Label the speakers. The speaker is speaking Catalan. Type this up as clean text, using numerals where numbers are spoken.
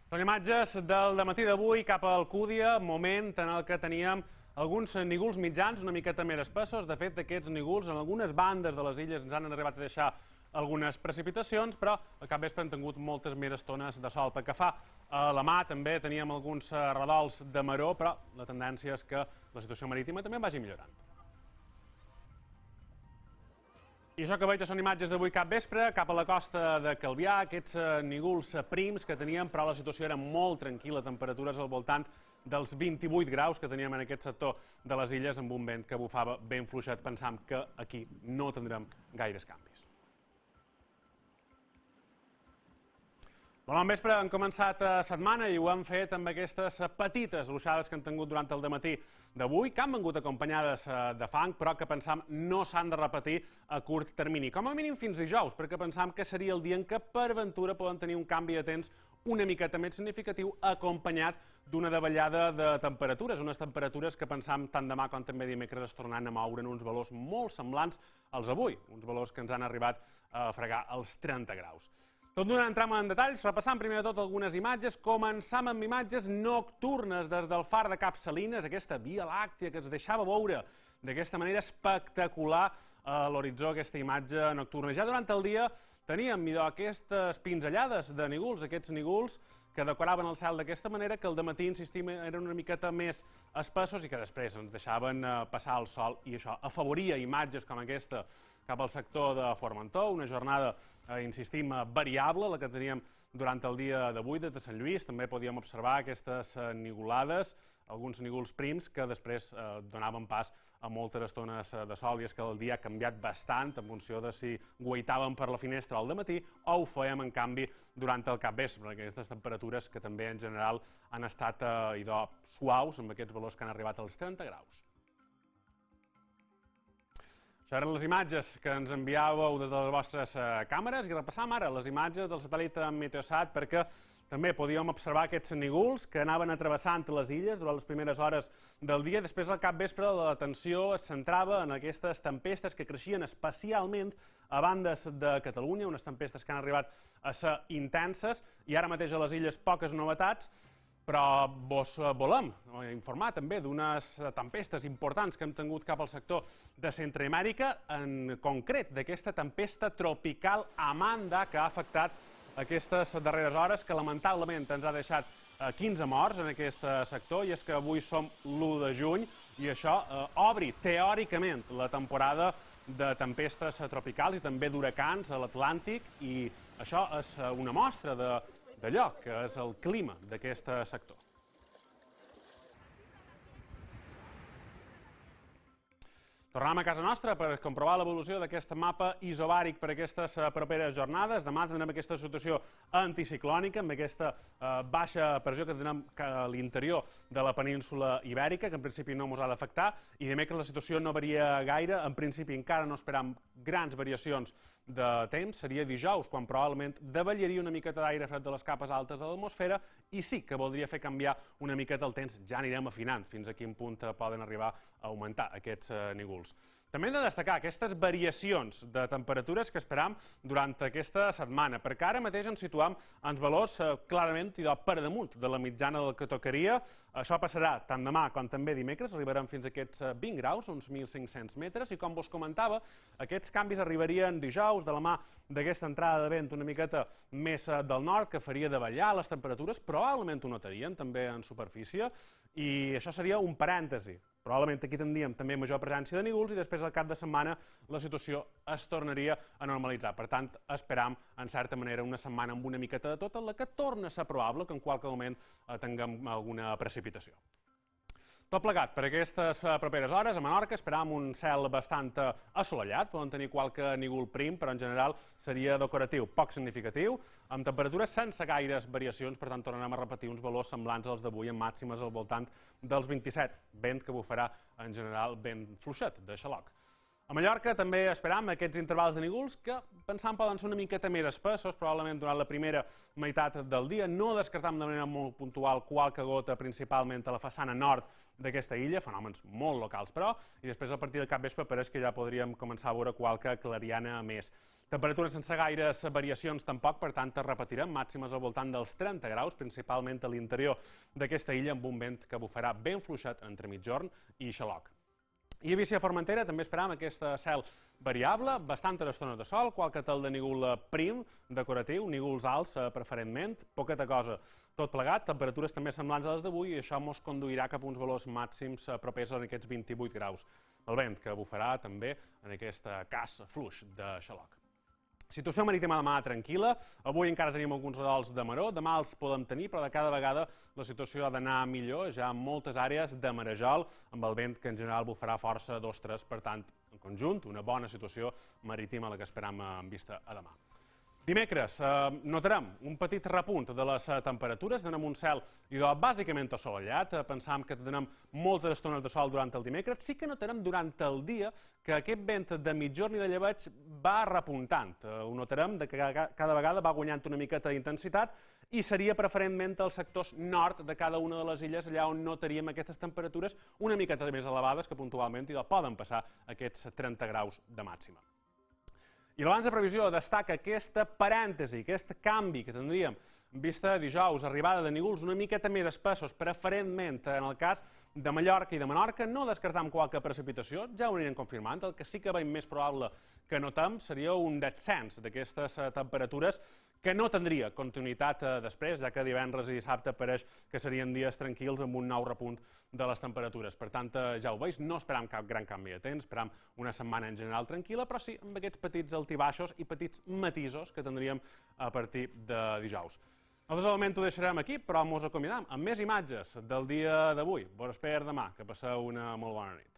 Speaker 1: Són imatges del dematí d'avui cap a Alcúdia, moment en el que teníem alguns nígols mitjans una miqueta més espessos. De fet, aquests nígols en algunes bandes de les illes ens han arribat a deixar algunes precipitacions, però al capvespre han tingut moltes més estones de sol. Pel que fa a la mà també teníem alguns redols de maror, però la tendència és que la situació marítima també vagi millorant. I això que veig són imatges d'avui capvespre, cap a la costa de Calvià, aquests nígols prims que teníem, però la situació era molt tranquil·la, temperatures al voltant dels 28 graus que teníem en aquest sector de les illes, amb un vent que bufava ben fluixet. Pensam que aquí no tindrem gaires canvis. Bon vespre, hem començat setmana i ho hem fet amb aquestes petites ruixades que hem tingut durant el dematí d'avui, que han vingut acompanyades de fang, però que pensam no s'han de repetir a curt termini. Com a mínim fins dijous, perquè pensam que seria el dia en què per ventura poden tenir un canvi de temps una miqueta més significatiu, acompanyat d'una davallada de temperatures, unes temperatures que pensam tant demà com també dimecres es tornaran a moure en uns valors molt semblants als d'avui, uns valors que ens han arribat a fregar els 30 graus. Tot d'una entrem en detalls, repassant primer de tot algunes imatges. Començam amb imatges nocturnes des del far de Cap Salines, aquesta via làctia que es deixava veure d'aquesta manera espectacular a l'horitzó, aquesta imatge nocturna. Ja durant el dia teníem aquestes pinzellades de nígols, aquests nígols que decoraven el cel d'aquesta manera, que al dematí, insistim, eren una miqueta més espessos i que després ens deixaven passar el sol, i això afavoria imatges com aquesta cap al sector de Formentor, una jornada, insistim, variable, la que teníem durant el dia d'avui de Sant Lluís. També podíem observar aquestes nigolades, alguns nígols prims que després donaven pas a moltes estones de sol, i és que el dia ha canviat bastant en funció de si guaitàvem per la finestra al dematí o ho fèiem, en canvi, durant el capvespre, aquestes temperatures que també en general han estat suaus, amb aquests valors que han arribat als 30 graus. Això eren les imatges que ens enviàveu des de les vostres càmeres, i repassam ara les imatges del satèl·lit Meteosat, perquè també podíem observar aquests nígols que anaven travessant les illes durant les primeres hores del dia. Després, al capvespre, l'atenció es centrava en aquestes tempestes que creixien especialment a bandes de Catalunya, unes tempestes que han arribat a ser intenses, i ara mateix a les illes poques novetats, però vos volem informar també d'unes tempestes importants que hem tingut cap al sector de Centreamèrica, en concret d'aquesta tempesta tropical Amanda, que ha afectat aquestes darreres hores, que lamentablement ens ha deixat 15 morts en aquest sector, i és que avui som l'1 de juny i això obri teòricament la temporada de tempestes tropicals i també d'huracans a l'Atlàntic, i això és una mostra d'allò que és el clima d'aquest sector. Tornem a casa nostra per comprovar l'evolució d'aquest mapa isobàric per aquestes properes jornades. Demà tindrem aquesta situació anticiclònica, amb aquesta baixa pressió que tindrem a l'interior de la península Ibèrica, que en principi no ens ha d'afectar, i dimecres la situació no varia gaire. En principi encara no esperam grans variacions de temps. Seria dijous quan probablement davallaria una miqueta d'aire fred de les capes altes de l'atmosfera, i sí que voldria fer canviar una miqueta el temps. Ja anirem afinant fins a quin punt poden arribar a augmentar aquests nígols. També hem de destacar aquestes variacions de temperatures que esperam durant aquesta setmana, perquè ara mateix ens situam en valors clarament per damunt de la mitjana del que tocaria. Això passarà tant demà com també dimecres, arribarem fins a aquests 20 graus, uns 1.500 metres, i com vos comentava, aquests canvis arribarien dijous de la mà d'aquesta entrada de vent una miqueta més del nord, que faria davallar les temperatures, probablement ho notaríem també en superfície, i això seria un parèntesi. Probablement aquí tindríem també major presència de nígols, i després al cap de setmana la situació es tornaria a normalitzar. Per tant, esperam, en certa manera, una setmana amb una miqueta de tot, en la que torna a ser probable que en qualsevol moment tinguem alguna precipitació. Tot plegat, per aquestes properes hores, a Menorca esperam un cel bastant assolellat, poden tenir qualque nígol prim, però en general seria decoratiu, poc significatiu, amb temperatures sense gaires variacions. Per tant, tornarem a repetir uns valors semblants als d'avui, amb màximes al voltant dels 27, vent que bufarà en general ben fluixet, de xaloc. A Mallorca també esperam aquests intervals de nígols que pensam poden ser una miqueta més espessos, probablement durant la primera meitat del dia. No descartam de manera molt puntual qualque gota, principalment a la façana nord d'aquesta illa, fenòmens molt locals però, i després a partir del capvespre pareix que ja podríem començar a veure qualque clariana més. Temperatures sense gaires variacions tampoc, per tant es repetirem, màximes al voltant dels 30 graus, principalment a l'interior d'aquesta illa, amb un vent que bufarà ben fluixet entre mitjorn i xaloc. I a Eivissa i a Formentera també esperam aquest cel variable, bastantes estones de sol, qualque tel de nígul prim, decoratiu, nígols alts preferentment, poqueta cosa tot plegat, temperatures també semblants a les d'avui i això ens conduirà cap a uns valors màxims propers a aquests 28 graus. El vent que bufarà també en aquest cas fluix de xaloc. Situació marítima demà tranquil·la, avui encara tenim alguns radols de maró, demà els podem tenir, però de cada vegada la situació ha d'anar millor, ja en moltes àrees de marejol, amb el vent que en general bufarà força 2-3, per tant, en conjunt, una bona situació marítima la que esperam en vista a demà. Dimecres notarem un petit repunt de les temperatures, tenim un cel bàsicament assolellat, pensam que tenim moltes estones de sol durant el dimecres, sí que notarem durant el dia que aquest vent de mitjorn i de llebeig va repuntant, ho notarem que cada vegada va guanyant una miqueta d'intensitat i seria preferentment als sectors nord de cada una de les illes, allà on notaríem aquestes temperatures una miqueta més elevades que puntualment poden passar aquests 30 graus de màxima. I l'abans de previsió destaca aquesta parèntesi, aquest canvi que tindríem vista dijous, arribada de nígols una miqueta més espessos, preferentment en el cas de Mallorca i de Menorca, no descartam qualque precipitació, ja ho anirem confirmant, el que sí que veiem més probable que notem seria un descens d'aquestes temperatures que no tindria continuïtat després, ja que divendres i dissabte pareix que serien dies tranquils amb un nou repunt de les temperatures. Per tant, ja ho veus, no esperam cap gran canvi de temps, esperam una setmana en general tranquil·la, però sí amb aquests petits altibaixos i petits matisos que tindríem a partir de dijous. Nosaltres de moment ho deixarem aquí, però ens acomiadam amb més imatges del dia d'avui. Vos espero demà, que passeu una molt bona nit.